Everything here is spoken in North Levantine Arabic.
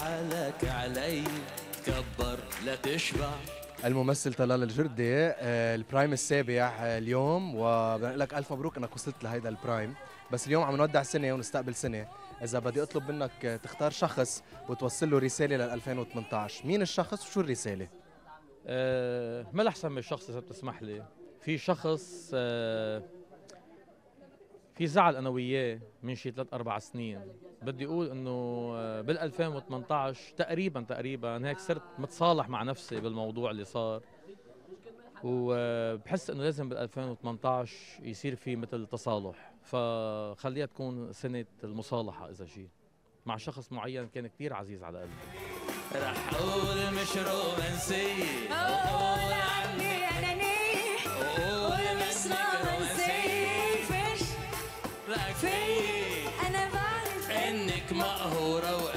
حالك علي تكبر لا تشبع. الممثل طلال الجردي البرايم السابع اليوم، وبنقول لك الف مبروك انك وصلت لهيدا البرايم. بس اليوم عم نودع سنه ونستقبل سنه. اذا بدي اطلب منك تختار شخص وتوصل له رساله لل 2018، مين الشخص وشو الرساله؟ ما احسن من الشخص اذا بتسمح لي. في شخص في زعل انا وياه من شي 3-4 سنين. بدي اقول انه بال 2018 تقريبا هيك صرت متصالح مع نفسي بالموضوع اللي صار، وبحس انه لازم بال 2018 يصير في مثل تصالح، فخليها تكون سنة المصالحة اذا شيء مع شخص معين كان كثير عزيز على قلبي. رح اقول مش رومانسية، قول عني أنانية، قول مش رومانسية. فيش رأيك فيي أنا بعرف انك مقهورة